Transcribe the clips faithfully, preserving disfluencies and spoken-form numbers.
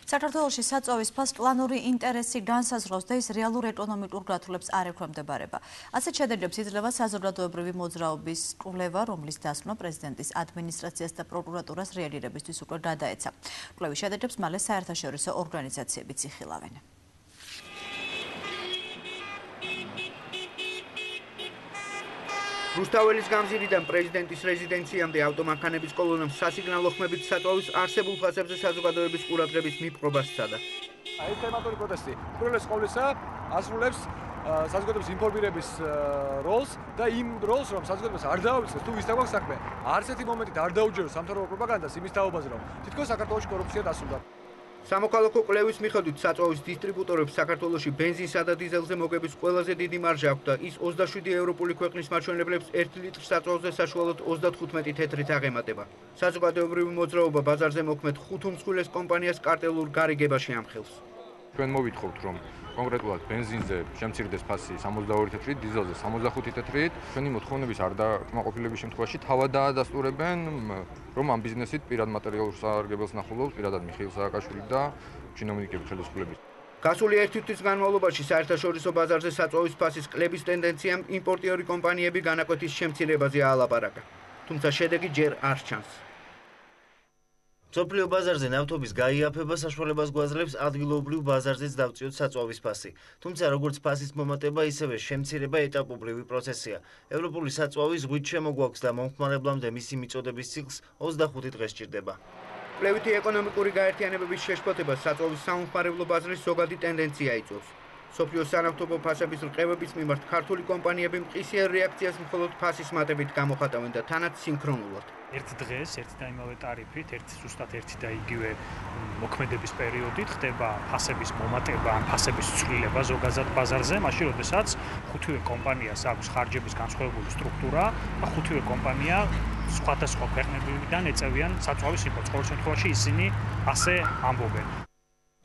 საქართველოში საწვავის ფას პლანური ინტერესი განსაზღვრავს და ის რეალურ ეკონომიკურ გათვლებს არ ექვემდებარება. ასეთ შედარებას იძლევა საზოგადოებრივი მოძრაობის კვლევა, რომლის დასმა პრეზიდენტის ადმინისტრაციას და პროკურატურას რეაგირებისთვის უკვე გადაეცა. კვლევის შედარებას მალე საერთაშორისო ორგანიზაციებიც იხილავენ. რუსთაველის გამზირიდან პრეზიდენტის რეზიდენციამდე ავტომანქანების კოლონამ სასიგნალო ხმებით საწვავის არსებულ ფასებზე საზოგადოების ყურადღების მიპყრობას სცადა. აი თემატური პროტესტი უპირველეს ყოვლისა ასრულებს საზოგადოების ინფორმირების როლს და იმ როლს, რომ საზოგადოებას არ დაავიწყდეს თუ ვის დაგვაქვს საქმე, არც ერთი მომენტით არ დაუჯეროს სამთავრობო პროპაგანდას იმის თაობაზე, რომ თითქოს საქართველოში კორუფცია დასრულდა. სამოქალაქო კვლევის მიხედვით საწვავის დისტრიბუტორებს საქართველოში ბენზინსა და დიზელზე მოგების ყველაზე დიდი მარჟა აქვს და ის ოცდაშვიდი ევროპული ქვეყნის მაჩვენებლებს ერთი ლიტრ საწვავზე საშუალოდ ოცდათხუთმეტი თეთრით აღემატება. საზოგადოებრივი მოძრაობა ბაზარზე მოქმედ ხუთ უმსხვილეს კომპანიას კარტელურ გარიგებაში ამხელს. ჩვენ მოვითხოვთ, რომ კონკრეტულად ბენზინზე შემცირდეს ფასი სამოცდაორი თეთრით, დიზელზე სამოცდახუთი თეთრით. ჩვენი მოთხოვნების არ დაკმაყოფილების შემთხვევაში თავად დაადასტურებენ, რომ ამ ბიზნესით პირად მატერიალურ სარგებელს ნახულობს პირადად მიხეილ სააკაშვილი და ჩინოვნიკები ხელისუფლების. გასული ერთი თვის განმავლობაში საერთაშორისო ბაზარზე საწვავის ფასის კლების ტენდენციამ იმპორტიორი კომპანიები განაკვეთის შემცირებაზე აალაპარაკა. თუმცა შედეგი ჯერ არ ჩანს. მსოფლიო ბაზარზე ნავთობის გაიაფება საშუალებას გვაძლევს ადგილობრივ ბაზარზეც დავწიოთ საწვავის ფასი. თუმცა როგორც ფასის მომატება, ისევე შემცირება ეტაპობრივი პროცესია. ევროპული საწვავის ზღვით შემოგვაქვს და მომხმარებლამდე მისი მიწოდების ციკლს ოცდახუთი დღე სჭირდება. კვლევითი ეკონომიკური გაერთიანებების შეშფოთება საწვავის სამომხმარებლო ბაზრის ზოგადი ტენდენცია იწვევს. მსოფლიოს სანავთობო ფასების რყევების მიმართ ქართული კომპანიები მყისიერ რეაქციას მხოლოდ ფასის მატებით გამოხატავენ და თანაც სინქრონულად. ერთ დღეს, ერთი და იმავე ტარიფით, ერთი ზუსტად ერთი და იგივე მოქმედების პერიოდით ხდება ფასების მომატება, ან ფასების ცვლილება ზოგადად ბაზარზე, მაშინ როდესაც ხუთივე კომპანიას აქვს ხარჯების განსხვავებული სტრუქტურა და ხუთივე კომპანია სხვადასხვა ქვეყნებიდან ეწევიან საწვავის იმპორტს. ყოველ შემთხვევაში ისინი ასე ამბობენ.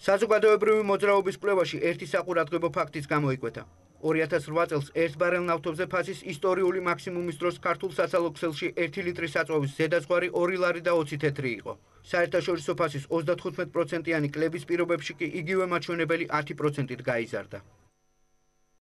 საზოგადოებრივი მოძრაობის კვლევაში ერთი საყურადღებო ფაქტიც გამოიკვეთა. ორი ათას რვა წელს ერთ ბარელ ნავთობზე ფასის ისტორიული მაქსიმუმის დროს ქართულ საცალო ქსელში ერთი ლიტრი საწვავის ზედაზღვარი ორი ლარი და ოცი თეთრი იყო. საერთაშორისო ფასის ოცდათხუთმეტ პროცენტიანი კლების პირობებში კი იგივე მაჩვენებელი ათი პროცენტით გაიზარდა.